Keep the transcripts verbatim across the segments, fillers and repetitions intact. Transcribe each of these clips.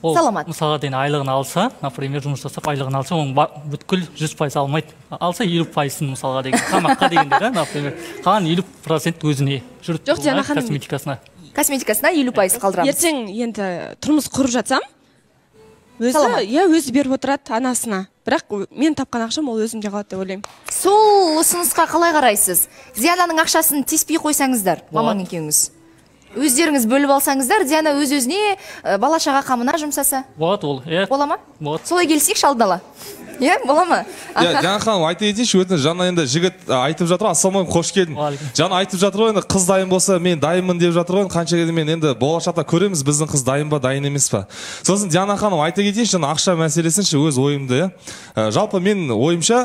саламат. Мысалға дейін айлығын алса, например, жұмыс жасап айлығын алса, оның бүткіл жүз пайыз алмайды. Алса елу пайызын мысалға деген, тамаққа дегенде да, например, қалған елу процент өзіне жүріп тұрған косметикасына. Косметикасына елу пайыз қалдырамыз. Ертең енді тұрмыс құрып жатсам, өзі, я өзі беріп отырады анасына. Бірақ мен тапқан ақшам ол өзімде қалады деп ойлаймын. Сол ұсынысқа қалай қарайсыз? Диананың ақшасын теспей қойсаңыздар, мамаң екеуіңіз. Өздеріңіз бөліп алсаңыздар, Диана өз-өзіне бала-шаға қамына жұмсаса. Болады ол, е. Бола ма? Болады. Солай келсек алдын-ала. Е, бола ма? Иә, Жана ханым, айта кетейінші, өтіні жаңа енді жігіт айтып жатыр, ассалаумағалейкум, қош келдің. Жана айтып жатыр ғой, енді қыз дайын болса, мен дайынмын деп жатыр ғой, қанша кезде мен енді болашақта көреміз, біздің қыз дайын ба, дайын емес па. Сосын Жана ханым, айта кетейінші, жаңа ақша мәселесінші өз ойымды, иә. Жалпы мен ойымша,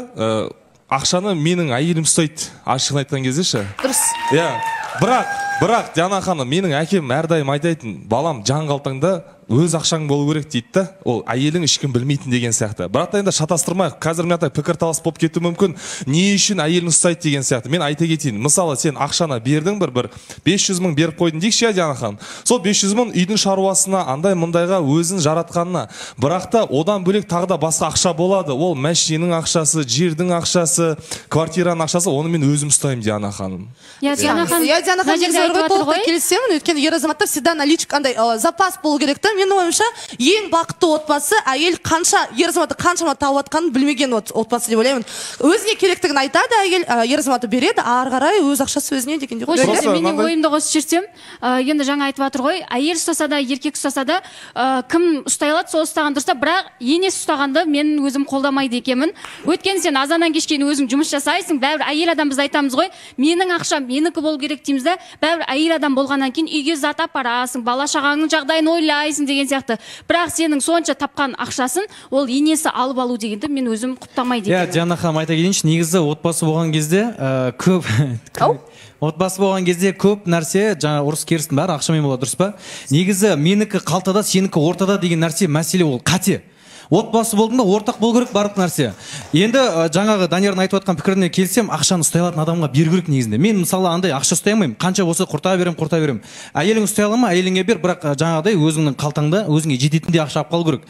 ақшаны менің әйелім ұстайды, ашығын айтқан кезде ше. Дұрыс. Иә. Бірақ, бірақ Диана ханым, менің әкем әрдайым айтайтын, балам жан қалтаңда өз ақшаң болу керек дейді да, ол әйелің ешкім білмейтін деген сияқты. Бірақ та енді шатастырмайық, қазір мен пікірталас болып кетуі мүмкін, не үшін әйелін ұстайды деген сияқты. Мен айта кетейін, мысалы сен ақшаны бердің бір бір бес жүз мың беріп қойдың дейікші, Диана ханым. Сол бес жүз мың үйдің шаруасына, андай мұндайға өзін жаратқанына. Бірақ та одан бөлек тағы да басқа ақша болады. Ол мәшиненің ақшасы, жердің ақшасы, квартираның ақшасы, оны мен өзім ұстаймын, Диана ханым. Я Диана ханым, я Диана ханым толықтай келісемін, өйткені ер азаматтар всегда наличка андай запас болу керек та. Менің ойымша, ең бақытты отбасы әйел қанша ер азаматы қаншама тауып атқанын білмеген отбасы деп ойлаймын. Өзіне керектігін айтады, әйел ер азаматы береді, ары қарай өз ақшасы өзіне дегенде. Қош, менің ойымды қосып жіберсем, енді жаңа айтып жатыр ғой, әйел ұстаса да, еркек ұстаса да, кім ұстай алады, сол ұстаған дұрыс та, бірақ енесі ұстағанды мен өзім қолдамайды екенмін. Өйткені сен азаннан кешке өзің жұмыс жасайсың, бәрібір әйел адам біз айтамыз ғой, менің ақшам менікі болу керек дейміз да, бәрібір әйел адам болғаннан кейін үйге зат апарасың, бала-шағаңның жағдайын ойлайсың деген сияқты. Бірақ сенің сонша тапқан ақшасын ол енесі алып алу дегенді мен өзім құптамайды екенмін. Иә, Диана ханым, айта кетейінші, негізі отбасы болған кезде көп отбасы болған кезде көп нәрсе, жаңа ұрыс керістің бәрі ақшамен болады, дұрыс па? Негізі менікі қалтада, сенікі ортада деген нәрсе, мәселе ол қате. Отбасы болдың ба, ортақ болу керек барлық нәрсе. Енді жаңағы Даниярдың айтып жатқан пікіріне келсем, ақшаны ұстай алатын адамға беру керек негізінде. Мен мысалы андай ақша ұстай алмаймын, қанша болса құрта берем, құрта берем. Әйелің ұстай ала ма, әйеліңе бер, бірақ жаңағыдай өзіңнің қалтаңда өзіңе жететіндей ақша алып қалу керек.